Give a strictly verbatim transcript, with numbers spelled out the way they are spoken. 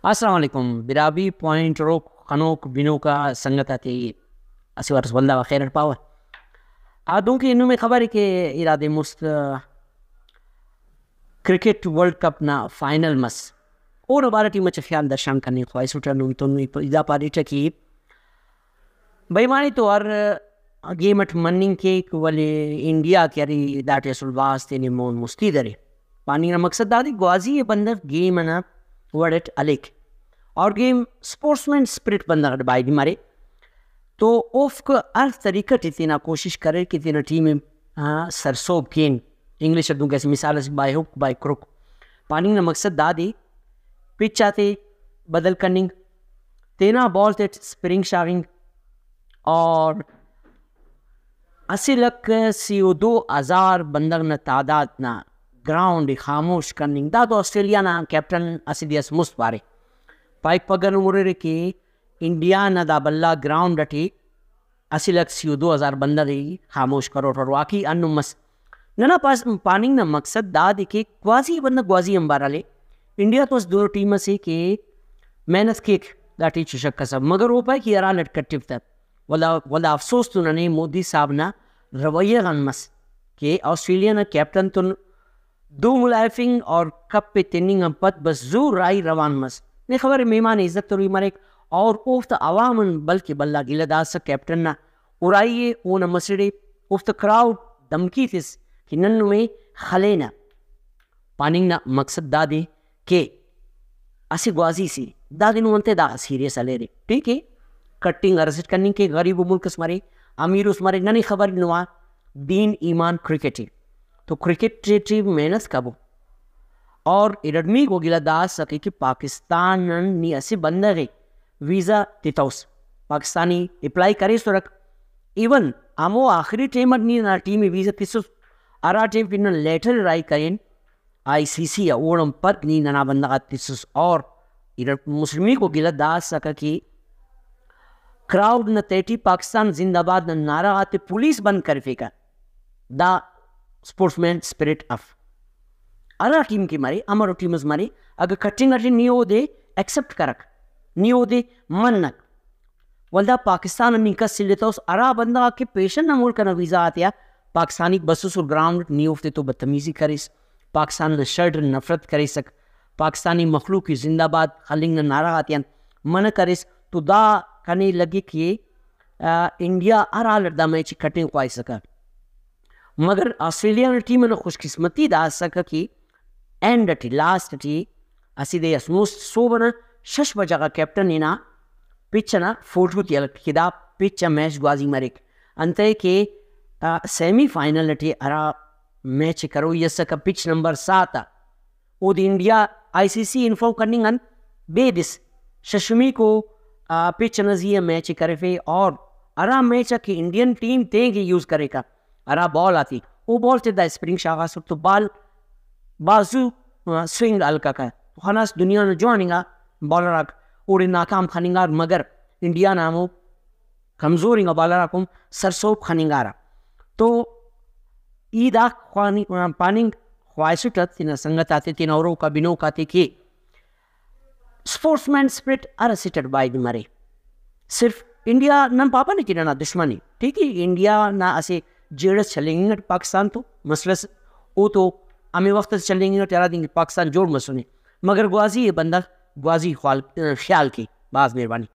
السلام علیکم براہوئی پوائنٹ روک خنوک بنوکا سنگت آتے اسہ وارس ولدا خیر اٹ پاوہ۔ آ، دنکہ نمے خبر ءِ کہ ارا دے مست کرکٹ ورلڈ کپ نا فائنل مس، اونا بارہ ٹی مچہ خیال درشان کننگ خواہسٹہ۔ نم تو نی پ-، دا پاریٹہ کہ بھئی معنی تو ہر گیم اٹ مننگ کیک، ولے انڈیا کہ ارے داٹی اسل بھاز تینے مون مستی درے۔ پاننگ نا مقصد دادے گوازی ءِ بندغ گیم انا وڑ اٹ ہلیک اور گیم اسپورٹس مین اسپرٹ بندغ اٹ بایدی مرے۔ تو اوفک ہر طریقہ ٹی تینا کوشش کریر کہ تینا ٹیم ءِ، آ، سرسہب کین۔ انگلش اٹ دنکہ اسہ مثال اس، بائی ہک بائی کروک۔ پاننگ نا مقصد دادے پچ آتے بدل کننگ، تینا بال تیٹ اسپرنگ شاغنگ اور اسہ لکھ سی و دو ہزار بندغ نا تعداد نا گراؤنڈ ءِ خاموش کننگ۔ دا تو آسٹریلیا نا کیپٹن اسہ دے اس مست پارے، پائک پگہ نم ہُررے کہ انڈیا نا دا بھلا گراؤنڈ اٹی اسہ لکھ سی و دو ہزار بندغ ءِ خاموش کروٹ اور واقعی ہندن مس۔ ننا پاس-، پاننگ نا مقصد دادے کہ گوازی بندغ گوازی آنبار ہلے۔ انڈیا تو اسہ دنو ٹیم اسے کہ محنت کیک، داٹی ہچو شک اس اف، مگر او پائے کہ ہرا لٹ کٹفت۔ ولدا، ولدا افسوس تو ننے مودی صاحب نا رویہ غان مس کہ آسٹریلیا نا کیپٹن تون دو ملائفنگ اور کپ ءِ تننگ آن پد بس زو راہی روان مس۔ نے خبر ءِ مہمان ءِ عزت تروئی مریک اور اوفتا عوام آن بلکہ بھلا گلہ داسہ کیپٹن نا ارائی ءِ، اونا مسڑ ءِ، اوفتا کراؤڈ دھمکی تس کہ نن نمے خلینہ۔ پاننگ نا مقصد دادے کہ اسہ گوازی سے دادے نم انتئے داخہ سیریس ہلیرے، ٹھیک ءِ، کٹنگ ہرسٹ کننگ کہ غریب و ملک اس مرے، امیر اس مرے، ننے خبر نما دین ایمان کرکٹ ءِ۔ تو کرکٹ ٹی محنت کبو۔ اور ارٹمیکو گلہ دا اسکہ کہ پاکستان آن نی اسہ بندغ ءِ ویزا تتوس، پاکستانی اپلائی کریسرک، ایون ہمو آخری ٹائم اٹ نی ننا ٹیم ءِ ویزا تسس، ہرا ٹائم کہ نن لیٹر راہی کرین آئی سی سی آ، اوڑان پد نی ننا بندغ آتے تسس۔ اور ارٹ مسلمیکو گلہ دا اسکہ کہ کراؤڈ نا تہٹی پاکستان زندہ باد نا نعرہ غاتے پولیس بند کرفیکہ۔ دا اسپورٹس مین اسپرٹ اف۔ ہرا ٹیم کہ مرے، امرو ٹیم اس مرے، اگہ کٹنگ اٹی نی اودے ایکسپٹ کرک، نی اودے منک، ولدا پاکستان آن نی کس الیتوس، ہرا بندغ آک کہ پیشن نا ملک ئنا ویزا غاتیا پاکستانیک بسوسر گراؤنڈ اٹ، نی اوفتے تو بدتمیزی کریس، پاکستان نا شرٹ اٹ نفرت کریسک، پاکستانی مخلوق ءِ زندہ باد خلنگ نا نعرہ غاتیان منع کریس، تو دا کنے لگک کہ، آ، انڈیا ہر حال اٹ دا میچ ءِ کٹنگ خواہسکہ۔ مگر آسٹریلیا نا ٹیم ئنا خوش قسمتی دا اسکہ کہ اینڈ اٹی، لاسٹ اٹی اسہ دے اس مست صبح ئنا شش بجہ غا کیپٹن ہنا پچ ئنا فوٹو تے ہلک کہ دا پچ آ میچ گوازی مریک۔ انتئے کہ، آ، سیمی فائنل اٹی ہرا میچ ءِ کروئی اسکہ پچ نمبر سات آ، اودے انڈیا آئی سی سی انفارم کننگ آن بیدس ششمیکو، آ، پچ ئنا زی آ میچ ءِ کرفے اور ہرا میچ آ کہ انڈین ٹیم تینکہ یوز کریکہ، ہرا بال آتے، او بال تے دا اسپرنگ شاغاسر تو بال بھاز زو، آ، سوئنگ ہلککہ۔ تو خناس دنیا نا جوان انگا بالر آک اوڑے ناکام خننگار، مگر انڈیا نا ہمو کمزور انگا بالر آک ہم سرسہب خننگارہ۔ تو ای دا خوانی-، پاننگ خواہسٹ تینا سنگت آتے، تینا ہروک آ بنوک آتے کہ اسپورٹس مین اسپرٹ ہر اسٹ اٹ باید مرے۔ صرف انڈیا نن پاپہ نے کہ ننا دشمن ءِ، ٹھیک ءِ، انڈیا نا اسہ جیڑہ اس چلینگنگ اٹ پاکستان تو مسئلہ اس، او تو ہمے وخت اس چلینگنگ اٹ ہرا دن کہ پاکستان جوڑ مسنے، مگر گوازی ءِ بندغ گوازی خوال-، خیال کے۔ بھاز مہربانی۔